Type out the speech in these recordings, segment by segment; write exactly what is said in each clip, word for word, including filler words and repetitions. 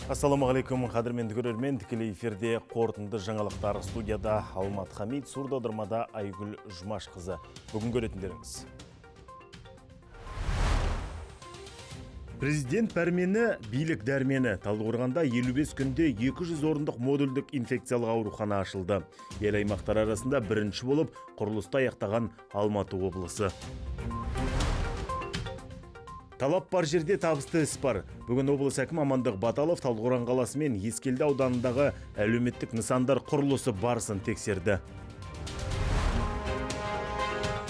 Ассаламағалейкум, қадірменді көрермен, тікелей эфирде қорытынды жаңалықтар. Студияда Алмат Хамид, сурдодырмада Айгүл Жұмаш қызы. Бүгін көретіндеріңіз. Президент пәрмені, билік дәрмені. Талдықорғанда елу бес күнде екі жүз орындық модульдік инфекциялық аурухана ашылды. Ел аймақтар арасында бірінші болып құрылысты аяқтаған Алматы облысы. Талап бар жерде табысты іс бар. Бүгін облыс әкімі Амандық Баталов Талдықорған қаласы мен Ескелді ауданындағы әлеуметтік нысандар құрылысы барысын тексерді.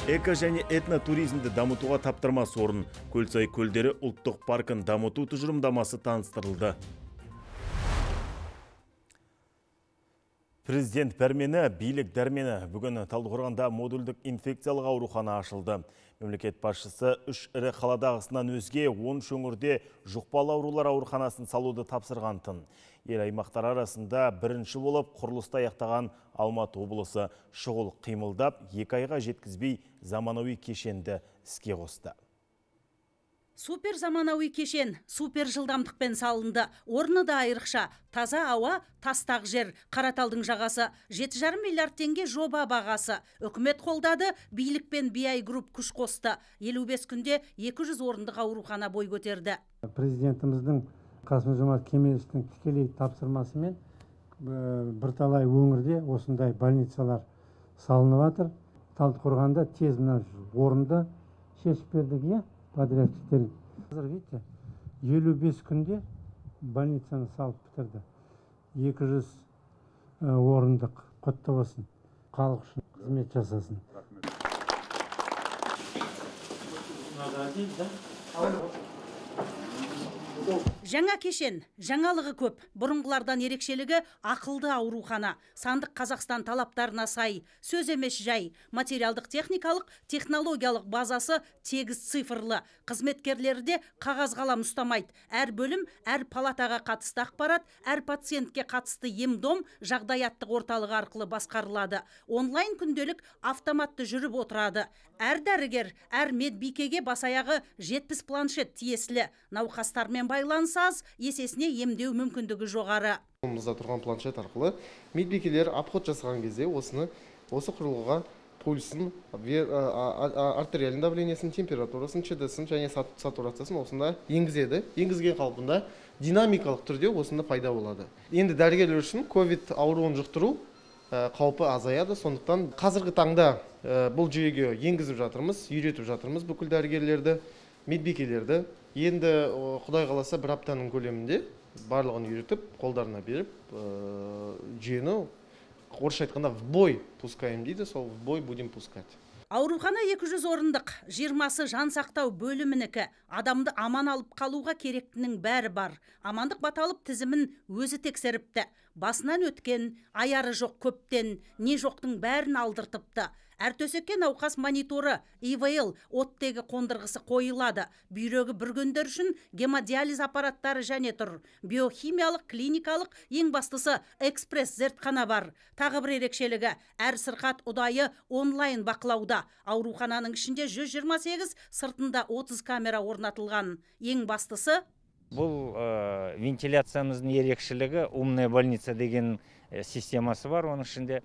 Эко және этно туризмді дамытуға таптырмас орын. Көлсай көлдері ұлттық паркын дамыту тұжырымдамасы таныстырылды. Президент пәрмені, билік дәрмені. Бүгін Талдықорғанда модульдік инфекциялық аурухана ашылды. Мемлекет басшысы үш ірі қаладағысынан өзге он өңірде жұқпалы аурулар ауруханасын салуды тапсырғантын. Ел аймақтар арасында бірінші болып құрылысты аяқтаған Алматы облысы шұғыл қимылдап, екі айға жеткізбей заманауи кешенді іске қосты. Супер заманауи кешен, супер жылдамдықпен салынды. Орны да айрықша. Таза ауа, тастақ жер, Қараталдың жағасы. жеті жарым миллиард теңге жоба бағасы. Үкімет қолдады, билік пен би ай Group күш қосты. елу бес күнде екі жүз орындық аурухана бой көтерді. Президентіміздің Қасым-Жомарт Кемелевичтің тікелей тапсырмасымен бірталай өңірде осындай больницалар салынып жатыр. Талдықорғанда тез мына орынды шешіп бердік, иә? Подрядчиктер. Қазір, видите, елу бес күнде больницаны салып бітірді. екі жүз орындық құтты болсын. Халық үшін қызмет жасасын. Жаңа кешен, жаңалығы көп. Бұрынғылардан ерекшелігі ақылды аурухана. Сандық Қазақстан талаптарына сай, сөз емес жай. Материалдық техникалық, технологиялық базасы тегіс цифрлы. Қызметкерлері де қағаз қалам ұстамайды. Әр бөлім, әр палатаға қатысты ақпарат, әр пациентке қатысты ем-дом жағдаяттық орталығы арқылы басқарылады. Онлайн күнделік автоматты жүріп отырады. Әр дәрігер, әр медбикеге басаяғы жетпіс планшет тиесілі. Науқастармен байланыс аз, есесіне емдеу мүмкіндігі жоғары. Қолымызда тұрған планшет арқылы медбикелер обход жасаған кезде осыны осы құрылғыға пульсын, артериалин давлениесін, температурасын, ЧД-сін және сатурациясын осында енгізеді. Енгізген қалпында динамикалық түрде осында пайда болады. Енді дәрігерлер үшін ковид ауруын жұқтыру қаупі азаяды. Сондықтан қазіргі таңда бұл жүйеге енгізіп жатырмыз, үйретіп жатырмыз бүкіл дәрігерлерді, медбикелерді. Енді Құдай қаласа бір аптаның көлемінде барлығын үйретіп, қолдарына беріп, жүйені орысша айтқанда в бой пускаем дейді, сол в бой будем пускать. Аурухана екі жүз орындық, жиырмасы жан сақтау бөлімінікі. Адамды аман алып қалуға керектінің бәрі бар. Амандық Баталов тізімін өзі тексеріпті. Басынан өткен, аяры жоқ көптен, не жоқтың бәрін алдыртыпты. Әр төсекке науқас мониторы, и вэ эл оттегі қондырғысы қойылады. Бүйрегі бүргендер үшін гемодиализ аппараттары және тұр. Биохимиялық, клиникалық, ең бастысы экспресс зертхана бар. Тағы бір ерекшелігі, әр сырқат ұдайы онлайн бақылауда. Аурухананың ішінде жүз жиырма сегіз, сыртында отыз камера орнатылған. Ең бастысы бұл вентиляциямыздың ерекшелігі умная больница деген системасы бар. Оның ішінде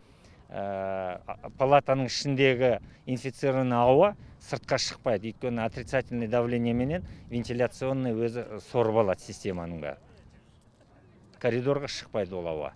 палатаның ішіндегі инфицированный ауа сыртқа шықпайды. Өйткені отрицательный давление менен вентиляционный өзі сорып алады системаның бәрі. Коридорға шықпайды ол ауа.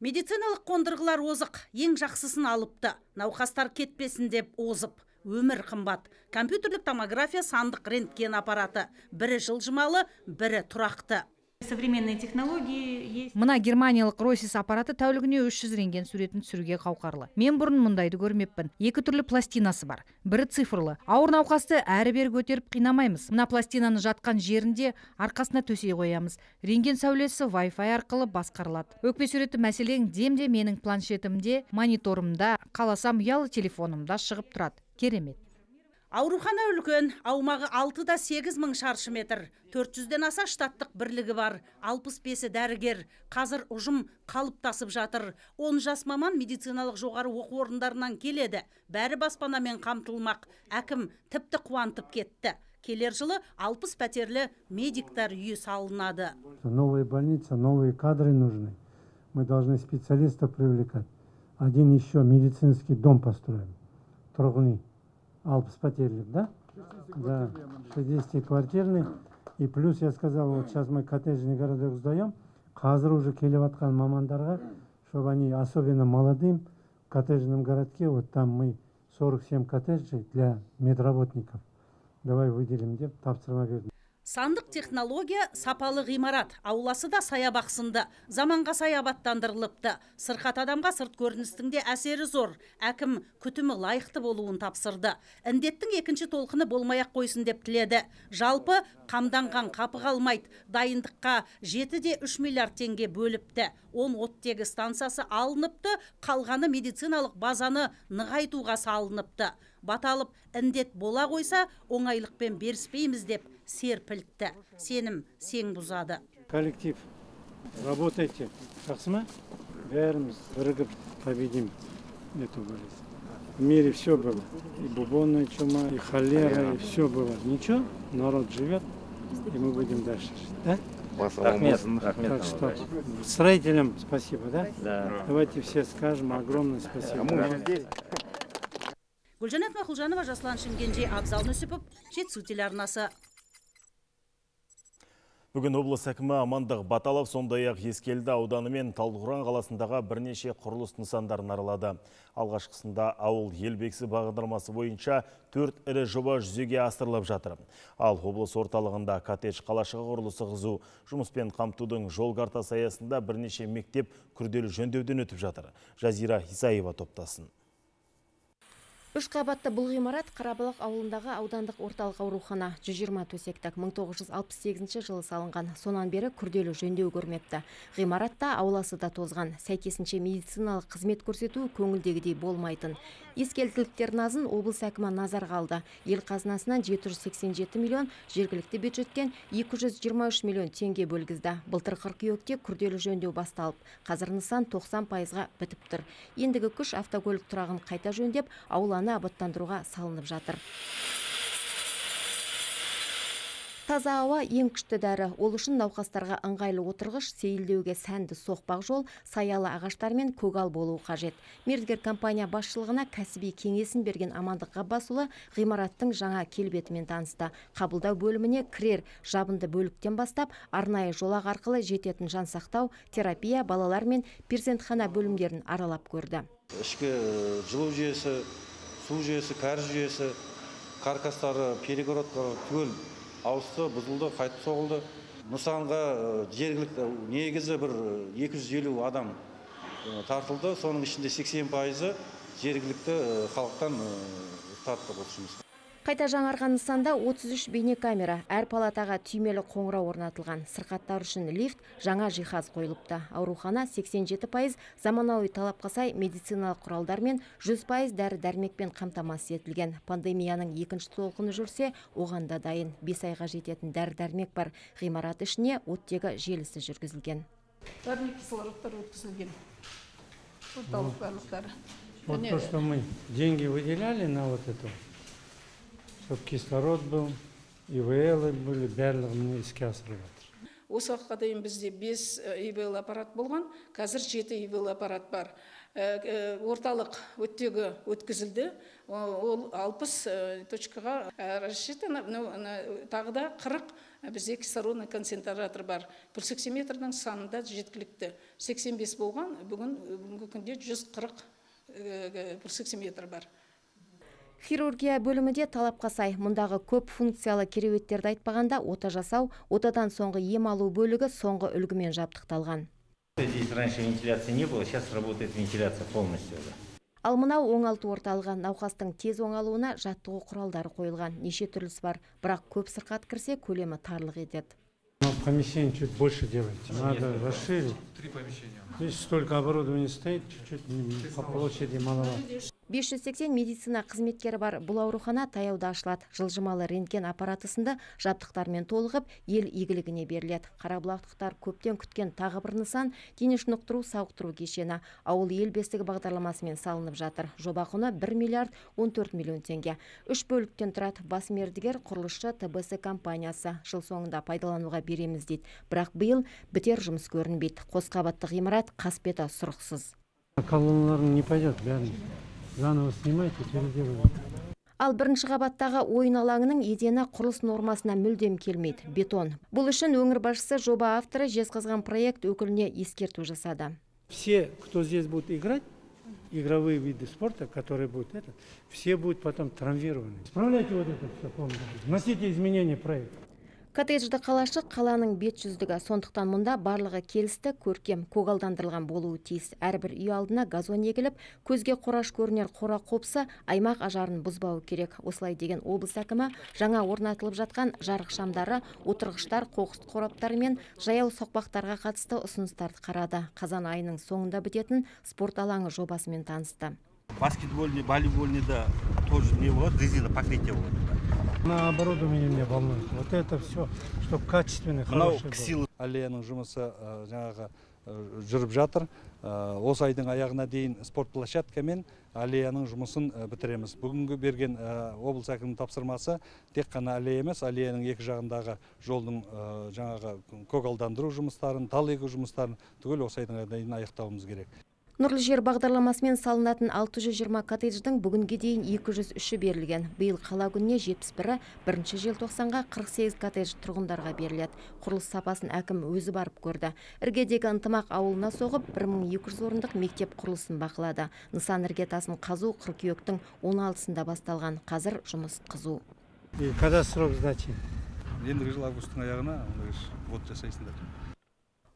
Медициналық қондырғылар озық, ең жақсысын алыпты. Науқастар кетпесін деп озып. Өмір қымбат. Компьютерлік томография, сандық рентген аппараты. Бірі жылжымалы, бірі тұрақты. Современные технологии есть. Мына германиялық Ройсис аппараты тәулігіне үш жүз рентген суретін түсіруге қауқарлы. Мен бұрын мұндайды көрмеппін. Екі түрлі пластинасы бар. Бірі цифрлы. Ауыр науқасты әрі-бері көтеріп қинамаймыз. Мына пластинаны жатқан жерінде арқасына төсей қоямыз. Рентген сәулесі Wi-Fi арқылы басқарылады. Өкпе суреті мәселең демде менің планшетімде, мониторымда, қаласам ұялы телефонымда шығып тұрады. Керемет. Аурухана үлкен, аумағы алты да сегіз мың шаршы метр. төрт жүзден аса штаттық бірлігі бар. алпыс бесі дәрігер. Қазір ұжым қалыптасып жатыр. он жас маман медициналық жоғары оқу орындарынан келеді. Бәрі баспанамен қамтылмақ. Әкім тіпті қуантып кетті. Келер жылы алпыс пәтерлі медиктар үйі салынады. Новая больница, новые кадры нужны. Мы должны специалистов привлекать. Один еще медицинский дом построим. Тұрғын үй. алпыс пәтерлік, да? Да, шестидесятиквартирный. И плюс я сказал, вот сейчас мы коттеджный городок сдаем. Қазір уже келіп атқан мамандарға, чтобы они, особенно молодым, в коттеджном городке, вот там мы сорок семь коттеджей для медработников. Давай выделим деп тапсырма бердім. Сандық технология сапалы ғимарат, ауласы да саябақсынды, заманға сай абаттандырылыпты. Сырқат адамға сырт көріністің де әсері зор. Әкім күтімі лайықты болуын тапсырды. Індеттің екінші толқыны болмай-ақ қойсын деп тіледі. Жалпы қамданған қапы қалмайды. Дайындыққа жеті де үш миллиард теңге бөліпті. он оттегі станциясы алыныпты, қалғаны медициналық базаны нығайтуға салыныпты. Баталып індет бола қойса, оңайлықпен беріспейміз деп серпілтті. Сенім сең бұзады. Коллектив, работайте. Жақсы ма? Бәріміз бірігіп победим эту болезнь. В мире все было. И бубонная чума, и холера, и все было. Ничего, народ живет, и мы будем дальше жить. Да? Рахмет, Так рахмет. что строителям спасибо, да? Да. Давайте все скажем огромное спасибо. Гүлжанат Мақұлжанова, Жаслан Шымкенже, Абзал Нүсіпов, Жетісу телеарнасы. Бүгін облыс әкімі Амандық Баталов сондай-ақ Ескелді ауданы мен Талдықорған қаласындағы бірнеше құрылыс нысандарын аралады. Алғашқысында ауыл елбексі бағдарламасы бойынша төрт ірі жоба жүзеге асырылып жатыр. Ал облыс орталығында коттедж қалашығы құрылысы қызу, жұмыспен қамтудың жол картасы аясында бірнеше мектеп күрделі жөндеуден өтіп жатыр. Жазира Исаева топтасын. Үш қабатты бұл ғимарат Қарабалық ауылындағы аудандық орталық аурухана. жүз жиырма төсектік мың тоғыз жүз алпыс сегізінші жылы салынған. Сонан бері күрделі жөндеу көрмепті. Ғимаратта ауласы да тозған. Сәйкесінше медициналық қызмет көрсету көңілдегідей болмайтын. Ескелділіктер назын облыс әкімі назарға алды. Ел қазынасынан жеті жүз сексен жеті миллион, жергілікті бюджеттен екі жүз жиырма үш миллион теңге бөлгізді. Былтыр қыркүйекте күрделі жөндеу басталып, қазір нысан тоқсан пайызға бітіп тұр. Ендігі күш автокөлік тұрағын қайта жөндеп, ауланы абаттандыруға салынып жатыр. Таза ауа ең күшті дәрі. Ол үшін науқастарға ыңғайлы отырғыш, сейілдеуге сәнді соқпақ жол, саялы ағаштар мен көгал болуы қажет. Мердігер компания басшылығына кәсіби кеңесін берген Амандық Ғаббасұлы ғимараттың жаңа келбетімен танысты. Қабылдау бөліміне кірер жабынды бөліктен бастап, арнайы жолақ арқылы жететін жансақтау, терапия, балалар мен перзентхана бөлімдерін аралап көрді. Ішкі жылу жүйесі, су жүйесі, кәріз жүйесі, каркастары, перегородкалар түгел ауысты, бұзылды, қайтып соғылды. Нысанға жергілікті негізі бір екі жүз елу адам тартылды. Соның ішінде сексен пайызы жергілікті халықтан тартты бұл жұмыс. Қайта жаңарған нысанда отыз үш бейнекамера, әр палатаға түймелі қоңырау орнатылған. Сырқаттар үшін лифт, жаңа жиһаз қойылыпты. Аурухана сексен жеті пайыз заманауи талапқа сай медициналық құралдар мен жүз пайыз дәрі-дәрмекпен қамтамасыз етілген. Пандемияның екінші толқыны жүрсе, оған да дайын. бес айға жететін дәрі-дәрмек бар. Ғимарат ішіне оттегі желісі жүргізілген. Дәрмек кислородтар өткізілген. Орталық барлықтары. Вот то, что мы деньги выделяли на вот это, чтобы кислород был, и вэ элы были, барлығын іске асырып жатыр. Осы уақытқа дейін бізде бес и вэ эл аппарат болған, қазір жеті и вэ эл аппарат бар. Орталық өттегі өткізілді, ол алпыс точкаға рассчитано, тағы да қырық бізде кислородный концентратор бар. Пульсоксиметрдің санында жеткілікті. сексен бес болған, бүгінгі күнде жүз қырық пульсоксиметр бар. Хирургия бөлімінде талапқа сай. Мұндағы көп функциялы кереуеттерді айтпағанда ота жасау, отадан соңғы ем алу бөлігі соңғы үлгімен жабдықталған. Здесь раньше вентиляции не было, сейчас работает вентиляция полностью. Ал мынау оңалту орталығы, науқастың тез оңалуына жаттығу құралдары қойылған. Неше түрлісі бар, бірақ көп сырқат кірсе көлемі тарлық етеді. Помещение чуть больше делайте, надо расширить. Три помещения. Здесь столько оборудования стоит, чуть-чуть по площади маловато. бес жүз сексен медицина қызметкері бар бұл аурухана таяуда ашылады. Жылжымалы рентген аппараты сынды жабдықтармен толығып, ел игілігіне беріледі. Қарабұлақтықтар көптен күткен тағы бір нысан дене шынықтыру сауықтыру кешені ауыл ел бесігі бағдарламасымен салынып жатыр. Жоба құны бір миллиард он төрт миллион теңге. Үш бөліктен тұрады. Бас мердігер құрылысшы Т Б С компаниясы. Жыл соңында пайдалануға береміз дейді. Бірақ биыл бітер жұмыс көрінбейді. Қос қабатты ғимарат қасбеті сұрықсыз. Колонналарың не пойдет, бәрін заново снимайте, переделывайте. Ал бірінші қабаттағы ойын алаңының едені құрылыс нормасына мүлдем келмейді. Бетон. Бұл үшін өңір басшысы жоба авторы Жезқазған проект өкіліне ескерту жасады. Все, кто здесь будут играть, игровые виды спорта, которые будут это, все будут потом травмированы. Исправляйте вот это все полностью. Вносите изменения в проект. Коттеджді қалашық қаланың бет жүздігі, сондықтан мұнда барлығы келісті, көркем, көгалдандырылған болуы тиіс. Әрбір үй алдына газон егіліп, көзге қораш көрінер қора қопсы аймақ ажарын бұзбауы керек. Осылай деген облыс әкімі жаңа орнатылып жатқан жарық шамдары, отырғыштар, қоқыс қораптары мен жаяу соқпақтарға қатысты ұсыныстарды қарады. Қазан айының соңында бітетін спорт алаңы жобасымен танысты. Баскетбольный, волейбольный, да, тоже не вот, резина покрытие вот. На оборудование меня волнует. Вот это все, чтобы качественный, хороший был. Аллеяның жұмысы жаңағы жүріп жатыр. Осы айдың аяғына дейін спорт площадкамен аллеяның жұмысын бітіреміз. Бүгінгі берген облыс әкімінің тапсырмасы тек қана аллея емес, аллеяның екі жағындағы жолдың жаңағы көгалдандыру жұмыстарын, тал егу жұмыстарын түгел осы айдың аяғына дейін аяқтауымыз керек. Нұрлы жер бағдарламасымен салынатын алты жүз жиырма коттедждің бүгінге дейін екі жүз үші берілген. Биыл қала күніне жетпіс бірі, бірінші желтоқсанға қырық сегіз коттедж тұрғындарға беріледі. Құрылыс сапасын әкім өзі барып көрді. Іргедегі ынтымақ ауылына соғып, бір мың екі жүз орындық мектеп құрылысын бақылады. Нысан іргетасын қазу қыркүйектің он алтысында басталған. Қазір жұмыс қызу. И когда срок сдачи? Ендігі жыл августтың аяғына вот жасайсыңдар.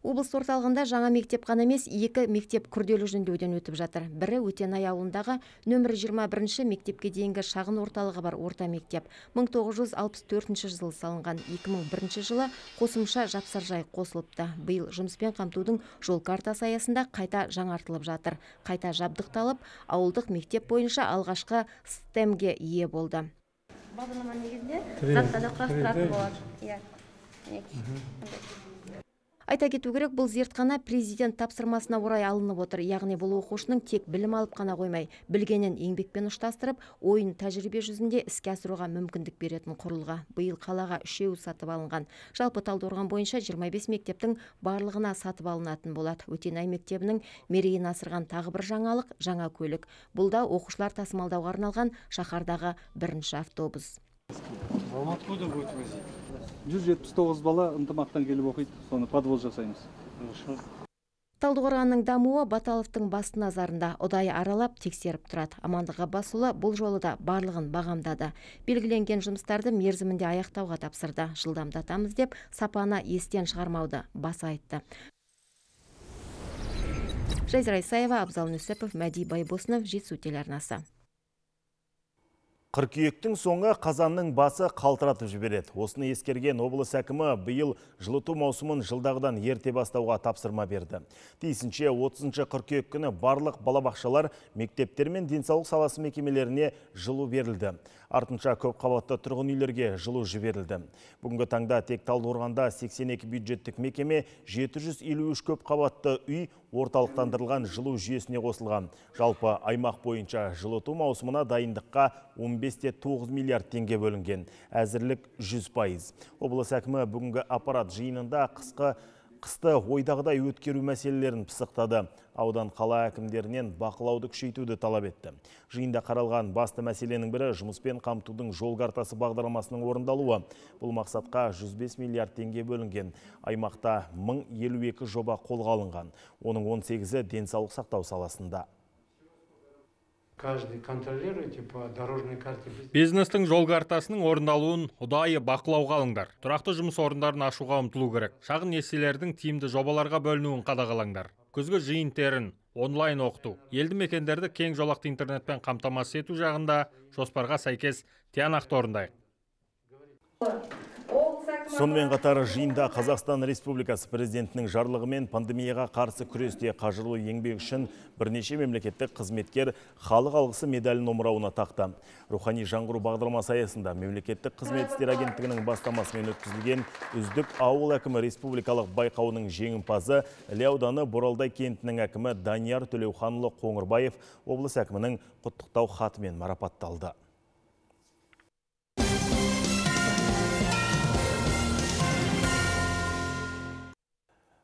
Облыс орталығында жаңа мектеп қана емес, екі мектеп күрделі жөндеуден өтіп жатыр. Бірі Өтенай ауылындағы нөмірі жиырма бірінші мектепке дейінгі шағын орталығы бар орта мектеп. мың тоғыз жүз алпыс төртінші жылы салынған, екі мың бірінші жылы қосымша жапсаржай қосылыпты. Биыл жұмыспен қамтудың жол картасы аясында қайта жаңартылып жатыр. Қайта жабдықталып, ауылдық мектеп бойынша алғашқы стемге ие болды. Бағдарлама негізінде заттарды құрастыратын болады. Айта кету керек, бұл зертхана президент тапсырмасына орай алынып отыр. Яғни бұл оқушының тек білім алып қана қоймай, білгенін еңбекпен ұштастырып, ойын тәжірибе жүзінде іске асыруға мүмкіндік беретін құрылға. Биыл қалаға үшеу сатып алынған. Жалпы Талдықорған бойынша жиырма бес мектептің барлығына сатып алынатын болады. Өтенай мектебінің мерейін асырған тағы бір жаңалық, жаңа көлік. Бұл да оқушылар тасымалдауға арналған шаһардағы бірінші автобус. Откуда будет возить? жүз жетпіс тоғыз бала ынтымақтан келіп оқиды, соны подвоз жасаймыз. Талдықорғанның дамуы Баталовтың басты назарында. Ұдайы аралап тексеріп тұрады. Амандық Ғаббасұлы бұл жолы да барлығын бағамдады. Белгіленген жұмыстарды мерзімінде аяқтауға тапсырды. Жылдамдатамыз деп сапаны естен шығармауды баса айтты. Жайза Исаева, Абзал Нүсіпов, Мәди Байбосынов, Жетісу телеарнасы. Қыркүйектің соңы қазанның басы қалтыратып жібереді. Осыны ескерген облыс әкімі биыл жылыту маусымын жылдағыдан ерте бастауға тапсырма берді. Тиісінше отызыншы қыркүйек күні барлық балабақшалар, мектептер мен денсаулық саласы мекемелеріне жылу берілді. Артынша көп қабатты тұрғын үйлерге жылу жіберілді. Бүгінгі таңда тек Талдықорғанда сексен екі бюджеттік мекеме, жеті жүз елу үш көп қабатты үй орталықтандырылған жылу жүйесіне қосылған. Жалпы аймақ бойынша жылыту маусымына дайындыққа он бес те тоғыз миллиард теңге бөлінген. Әзірлік жүз пайыз. Облыс әкімі бүгінгі аппарат жиынында қысқы Қысты ойдағыдай өткеру мәселелерін пысықтады. Аудан қала әкімдерінен бақылауды күшейтуді талап етті. Жиында қаралған басты мәселенің бірі жұмыспен қамтудың жол картасы бағдарламасының орындалуы. Бұл мақсатқа жүз бес миллиард теңге бөлінген. Аймақта мың елу екі жоба қолға алынған. Оның он сегізі денсаулық сақтау саласында. Каждый контролируете по дорожной карте. Бизнестің жол картасының орындалуын ұдайы бақылауға алыңдар. Тұрақты жұмыс орындарын ашуға ұмтылу керек. Шағын несиелердің тиімді жобаларға бөлінуін қадағалаңдар. Күзгі жиын-терін, онлайн оқыту, елді мекендерді кең жолақты интернетпен қамтамасыз ету жағында жоспарға сәйкес тиянақты орындайық. Сонымен қатар жиында Қазақстан Республикасы президентінің жарлығымен пандемияға қарсы күресте қажырлы еңбек үшін бірнеше мемлекеттік қызметкер халық алғысы медалін омырауына тақты. Рухани жаңғыру бағдарламасы аясында мемлекеттік қызмет істері агенттігінің бастамасымен өткізілген үздік ауыл әкімі республикалық байқауының жеңімпазы Іле ауданы Боралдай кентінің әкімі Данияр Төлеуханұлы Қоңырбаев облыс әкімінің құттықтау хатымен марапатталды.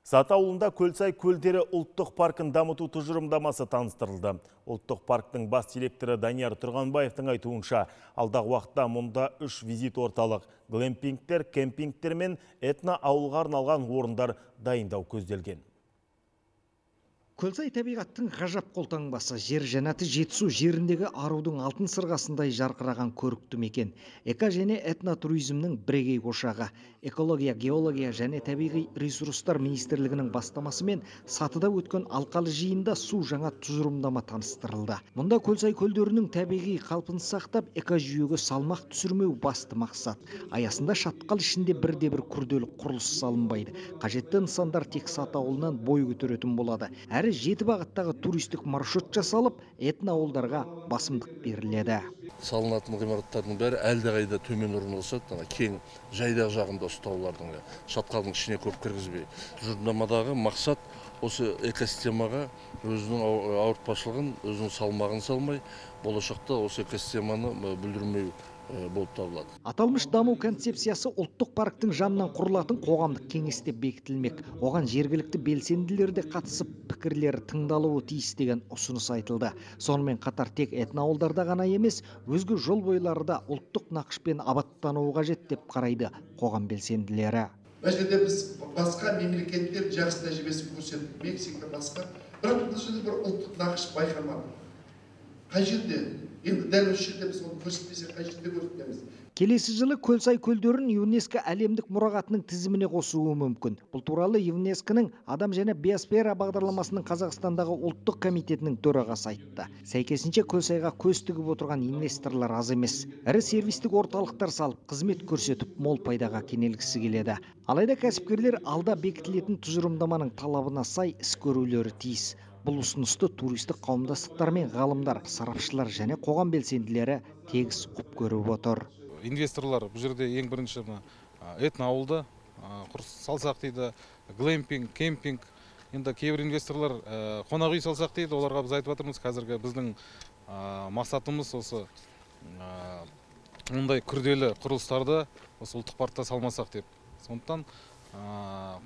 Саты ауылында Көлсай көлдері ұлттық паркын дамыту тұжырымдамасы таныстырылды. Ұлттық парктың бас директоры Данияр Тұрғанбаевтың айтуынша, алдағы уақытта мұнда үш визит орталық, глэмпингтер, кемпингтер мен этно ауылға арналған орындар дайындау көзделген. Көлсай табиғаттың ғажап қолтаңбасы, жер жәннаты Жетісу жеріндегі арудың алтын сырғасындай жарқыраған көрікті мекен. Эко және этнотуризмнің бірегей ошағы. Экология, геология және табиғи ресурстар министрлігінің бастамасымен Сатыда өткен алқалы жиында су жаңа тұжырымдама таныстырылды. Мұнда Көлсай көлдерінің табиғи қалпын сақтап, экожүйеге салмақ түсірмеу басты мақсат. Аясында шатқал ішінде бірде-бір күрделі құрылыс салынбайды. Қажетті нысандар тек Саты ауылынан бой көтеретін болады. Әрі жеті бағыттағы туристік маршрут жасалып, этно ауылдарға басымдық беріледі. Салынатын ғимараттардың бәрі әлдеқайда төмен орналасады, кең жайдақ жағында ұстаулардың, шатқалдың ішіне көп кіргізбей. Тұжырымдамадағы мақсат осы экосистемаға өзінің ауыртпашылығын, өзінің салмағын салмай, болашақта осы экосистеманы бүлдірмеу болып табылады. Аталмыш даму концепциясы ұлттық парктың жанынан құрылатын қоғамдық кеңесте бекітілмек. Оған жергілікті белсенділер де қатысып, пікірлері тыңдалуы тиіс деген ұсыныс айтылды. Сонымен қатар тек этноауылдарда ғана емес, өзге жол бойлары да ұлттық нақышпен абаттануы қажет деп қарайды қоғам белсенділері. Бұл жерде біз басқа мемлекеттер жақсы тәжірибесін көрсеттік, Мексика басқа, бірақ бұл жерде бір ұлттық нақыш байқалмады. Қай жерде? Енді дәл осы жерде біз оны көрсетпесе, қай жерде көрсетеміз? Келесі жылы Көлсай көлдерін ЮНЕСКО әлемдік мұрағатының тізіміне қосуы мүмкін. Бұл туралы ЮНЕСКОның Адам және биосфера бағдарламасының Қазақстандағы ұлттық комитетінің төрағасы айтты. Сәйкесінше Көлсайға көз тігіп отырған инвесторлар аз емес. Ірі сервистік орталықтар салып, қызмет көрсетіп, мол пайдаға кенелгісі келеді. Алайда кәсіпкерлер алда бекітілетін тұжырымдаманың талабына сай іс көрулері тиіс. Бұл ұсынысты туристік қауымдастықтар мен ғалымдар, сарапшылар және қоғам белсенділері тегіс құп көріп отыр. Инвесторлар бұл жерде ең бірінші этно ауылды салсақ дейді, глэмпинг, кемпинг. Енді кейбір инвесторлар қонақ үй салсақ дейді, оларға біз айтып жатырмыз, қазіргі біздің мақсатымыз осы мұндай күрделі құрылыстарды осы ұлттық паркта салмасақ деп. Сондықтан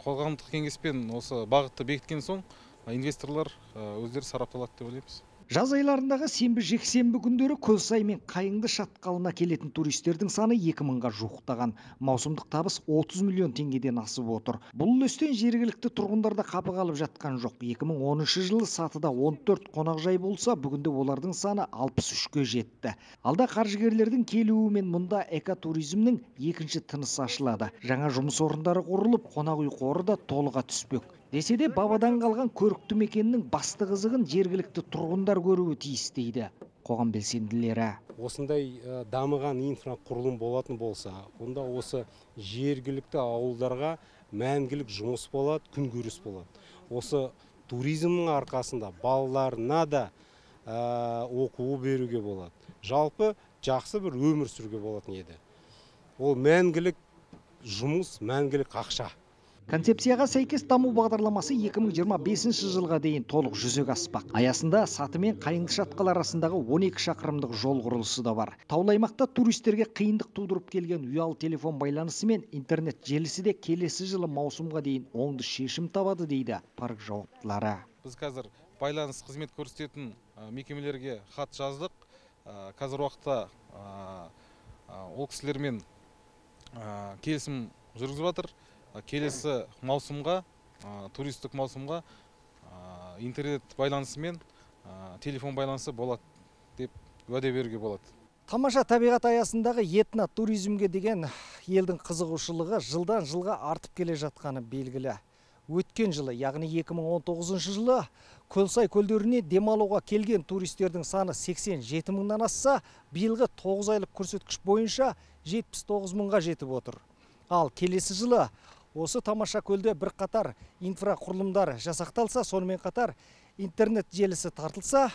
қоғамдық кеңеспен осы бағытты бекіткен соң инвесторлар өздері сарапталады деп ойлаймыз. Жаз айларындағы сенбі жексенбі күндері Көлсай мен Қайыңды шатқалына келетін туристердің саны екі мыңға жуықтаған. Маусымдық табыс отыз миллион теңгеден асып отыр. Бұл үлестен жергілікті тұрғындарда қапы қалып жатқан жоқ. екі мың оныншы жылы Сатыда он төрт қонақжай болса, бүгінде олардың саны алпыс үшке жетті. Алда қаржыгерлердің келуімен мұнда экотуризмнің екінші тынысы ашылады. Жаңа жұмыс орындары құрылып, қонақ үй қоры да толыға түспек. Десе де бабадан қалған көрікті мекеннің басты қызығын жергілікті тұрғындар көруі тиіс дейді қоғам белсенділері. Осындай дамыған инфрақұрылым болатын болса, онда осы жергілікті ауылдарға мәңгілік жұмыс болады, күнкөріс болады. Осы туризмнің арқасында балаларына да оқу беруге болады. Жалпы жақсы бір өмір сүруге болатын еді. Ол мәңгілік жұмыс, мәңгілік ақша. Концепцияға сәйкес даму бағдарламасы екі мың жиырма бесінші жылға дейін толық жүзеге аспақ. Аясында Саты мен Қайыңды шатқал арасындағы он екі шақырымдық жол құрылысы да бар. Таулы аймақта туристерге қиындық тудырып келген ұялы телефон байланысы мен интернет желісі де келесі жылы маусымға дейін оңды шешім табады дейді парк жауаптылары. Біз қазір байланыс қызмет көрсететін мекемелерге хат жаздық. Қазір уақытта ол кісілермен келісім жүргізіп жатыр. Келесі маусымға, туристік маусымға интернет байланысы мен телефон байланысы болады деп уәде беруге болады. Тамаша табиғат аясындағы этно туризмге деген елдің қызығушылығы жылдан жылға артып келе жатқаны белгілі. Өткен жылы, яғни екі мың он тоғызыншы жылы Көлсай көлдеріне демалуға келген туристердің саны сексен жеті мыңнан асса, биылғы тоғыз айлық көрсеткіш бойынша жетпіс тоғыз мыңға жетіп отыр. Ал келесі жылы осы тамаша көлде бір қатар инфрақұрылымдар жасақталса, сонымен қатар интернет желісі тартылса,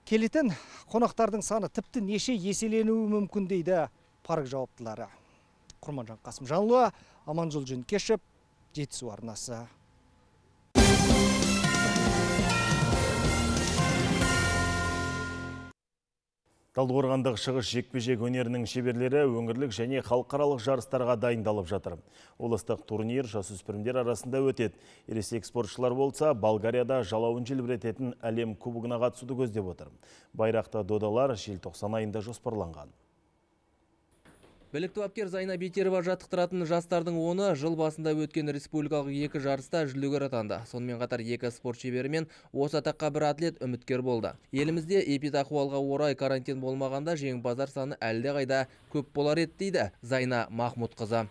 келетін қонақтардың саны тіпті неше еселенуі мүмкін дейді парк жауаптылары. Құрманжан Қасымжанұлы, Аманжол Жөнкешев, Жетісу арнасы. Талдықорғандық шығыс жекпе-жек өнерінің шеберлері өңірлік және халықаралық жарыстарға дайындалып жатыр. Облыстық турнир жасөспірімдер арасында өтеді. Ересек спортшылар болса, Болгарияда жалауын желбірететін әлем кубогына қатысуды көздеп отыр. Байрақты додалар желтоқсан айында жоспарланған. Білікті бапкер Зайна Бейтерова жаттықтыратын жастардың оны жыл басында өткен республикалық екі жарыста жүлдегер атанды. Сонымен қатар екі спорт шебері мен осы атаққа бір атлет үміткер болды. Елімізде эпидахуалға орай карантин болмағанда жеңімпаздар саны әлде қайда көп болар еді дейді Зайна Махмудқызы.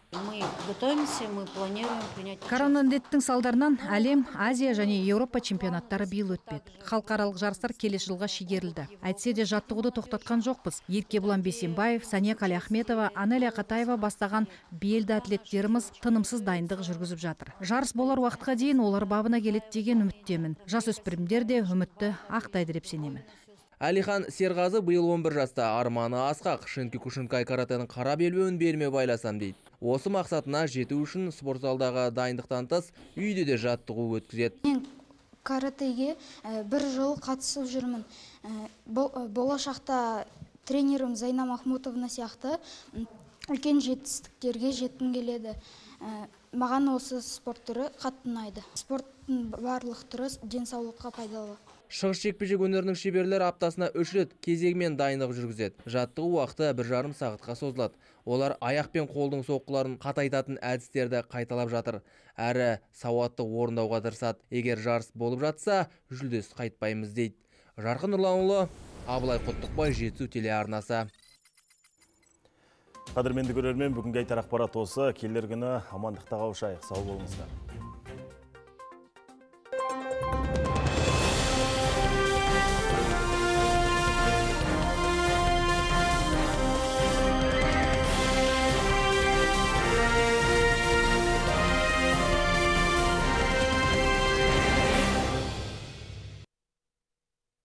Коронавирустың салдарынан әлем, Азия және Еуропа чемпионаттары биыл өтпеді. Халықаралық жарыстар келесі жылға шегерілді. Әйтсе де жаттығуды тоқтатқан жоқпыз. Еркебұлан Бейсенбаев, Сания Қалиахметова, Анелия Қатаева бастаған белді атлеттеріміз тынымсыз дайындық жүргізіп жатыр. Жарыс болар уақытқа дейін олар бабына келеді деген үміттемін. Жасөспірімдер де үмітті ақтайды деп сенемін. Әлихан Серғазы биыл он бір жаста, арманы асқақ, Шинки-Кушинкай каратенің қара белбеуін беліме байласам дейді. Осы мақсатына жету үшін спорт залдағы дайындықтан тыс үйде де жаттығу өткізеді. Мен каратеге бір жыл қатысып жүрмін. Болашақта тренерім Зайна Махмутовна сияқты үлкен жетістіктерге жеткім келеді. Маған осы спорт түрі қатты ұнайды. Спорттың барлық түрі денсаулыққа пайдалы. Шығыс жекпе-жек өнерінің шеберлері аптасына үш рет кезегімен дайындық жүргізеді. Жаттығу уақыты бір жарым сағатқа созылады. Олар аяқ пен қолдың соққыларын қатайтатын әдістерді қайталап жатыр. Әрі сауатты орындауға тырысады. Егер жарыс болып жатса, жүлдес қайтпаймыз дейді. Жарқын Нұрланұлы, Абылай Құттықбай, Жетісу телеарнасы. Қадірменді көрермен, бүгінгі айтар ақпарат осы. Келер күні амандықта қауышайық. Сау болыңыздар.